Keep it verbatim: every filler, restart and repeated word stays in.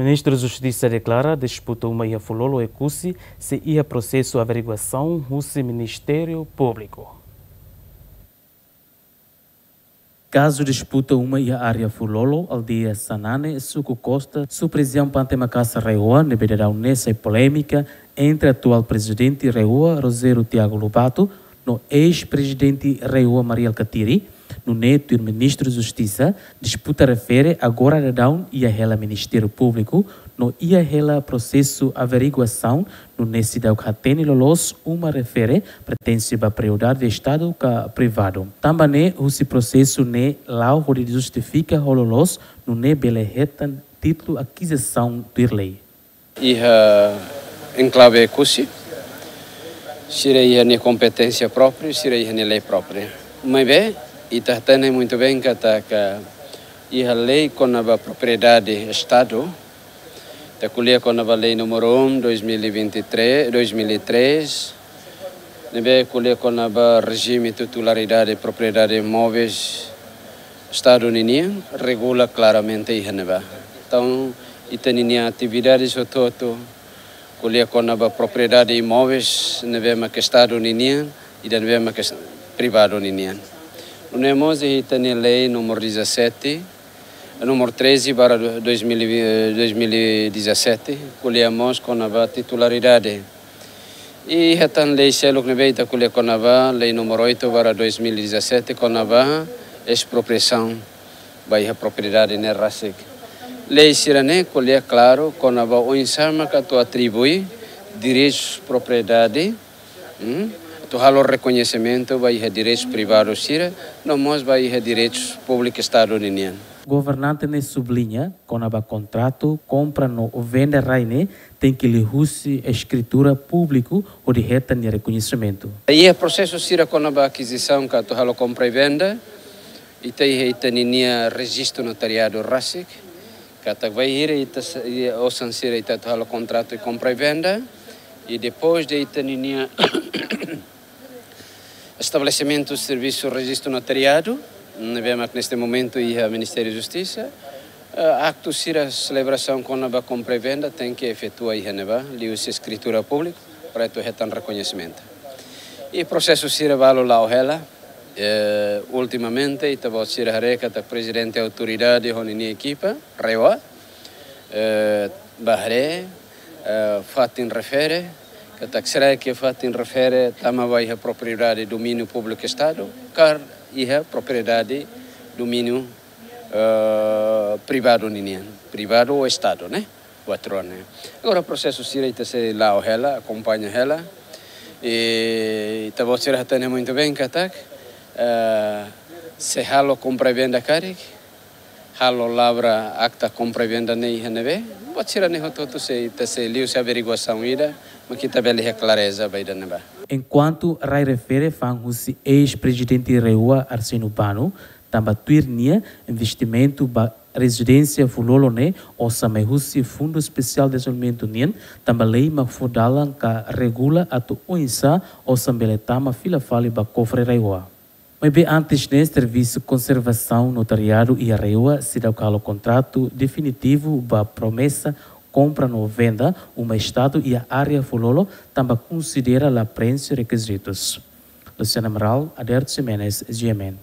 Ministru Justisa deklara disputa uma iha Fulolo Oekusi sei iha prosesu averiguasaun husi Ministériu Públiku. Kazu disputa uma iha área Fulolo, aldeia Sanane, suku Costa, suprizaun Pante Makasa RAEOA, ne'ebé daudaun ne'e sai polémika entre atuál prezidente RAEOA, Rogério Tiago Lobato, no eis-prezidente RAEOA, Mari Alkatiri, nune'e tuir Ministru Justisa, disputa refere agora daudaun iha hela Ministériu Públiku, no iha hela prosesu averiguasaun, nune'e seidauk hatene loloos uma refere pertense ba propriedade Estadu ka privadu. Tanba ne'e, husi prosesu ne'e la'o hodi justifika ho loloos, nune'e bele hetan títulu akizisaun tuir lei. Iha enklave Oekusi, sira iha nia kompeténsia própriu, sira iha nia lei própriu. Maibé, ita hatene muito bem katak iha lei kona-ba propriedade Estadu, ita ko'alia kona-ba lei número um, dois mil e vinte e três, dois mil e três, ne'ebé ko'alia kona-ba rejime titularidade propriedade imóveis Estadu ninian, regula klaramente iha ne'ebá. Entaun, ita-nia atividade hotu-hotu, ko'alia kona-ba propriedade imóveis ne'ebé mak Estadu ninian, ida ne'ebé mak privadu ninian. Nune'e mós iha ita-nia lei número dezassete, número treze barra dois mil e vinte, dois mil e dezassete, ko'alia mós kona-ba titularidade. I iha tan lei seluk ne'ebé ita ko'alia kona-ba, lei número oito barra dois mil e dezassete, kona-ba espropriasaun ba iha propriedade ne'e rasik. Lei sira-ne'e ko'alia klaru kona-ba oinsá mak atu atribui direitus propriedade, hmm, atu halo rekoñesimentu ba iha direitus privadu sira, no mós ba iha direitus públiku Estadu ninian. Governante ne'e subliña, kona-ba kontratu kompra no venda rai ne'e tenke liuhusi eskritura públiku hodi hetan nia rekoñesimentu. Iha prosesu sira kona-ba akizisaun ka atu halo kompra i venda, ita iha ita-ninia rejistu notariadu rasik, katak bainhira ita sa-, iha osan sira ita atu halo kontratu i kompra i venda, i depois de ita-ninia estabelesimentu servisu rejistu notariadu, ne'ebé mak neste momentu iha Ministériu Justisa, eh, aktu sira selebrasaun kona-ba kompra i venda tenke efetua iha ne'ebá, liuhusi eskritura públiku, para atu hetan rekoñesimentu. I prosesu sira balu la'o hela, eh, ultimamente, ita-boot sira haree katak prezidente autoridade ho ninia ekipa, RAEOA, eh, bá haree, eh, fatin refere, katak será que fatin refere tama ba iha propriedade domíniu públiku Estadu, ka iha propriedade domíniu, eh, privadu ninian, privadu ou Estadu, ne'e? Buat rua ne'e. Agora prosesu sira ita sei la'o hela, akompaña hela. I ita-boot sira hatene muito bem katak, eh, se halo kompra i venda karik, halo lavra akta kompra i venda ne'e iha ne'ebé, buat sira-ne'e hotu-hotu sei, ita sei liuhusi averiguasaun ida, mak ita bele iha klareza ba ida-ne'ebá. Enkuantu rai refere fa'an husi eis-prezidente RAEOA Arsénio Bano, tanba tuir nia investimentu ba rezidénsia Fulolo ne'e osan mai husi Fundu Espesiál Dezenvolvimentu nian, tanba lei mak fó dalan ka regula atu oinsá osan bele tama fila fali ba kofre RAEOA. Maibé antes ne'e, servisu konservasaun notariadu iha RAEOA seidauk halo kontratu definitivu ba promesa kompra no venda uma Estadu iha área Fulolo, tanba konsidera la preenxe rekizitus. Luciana Amaral, Aderto Ximenes, G M N.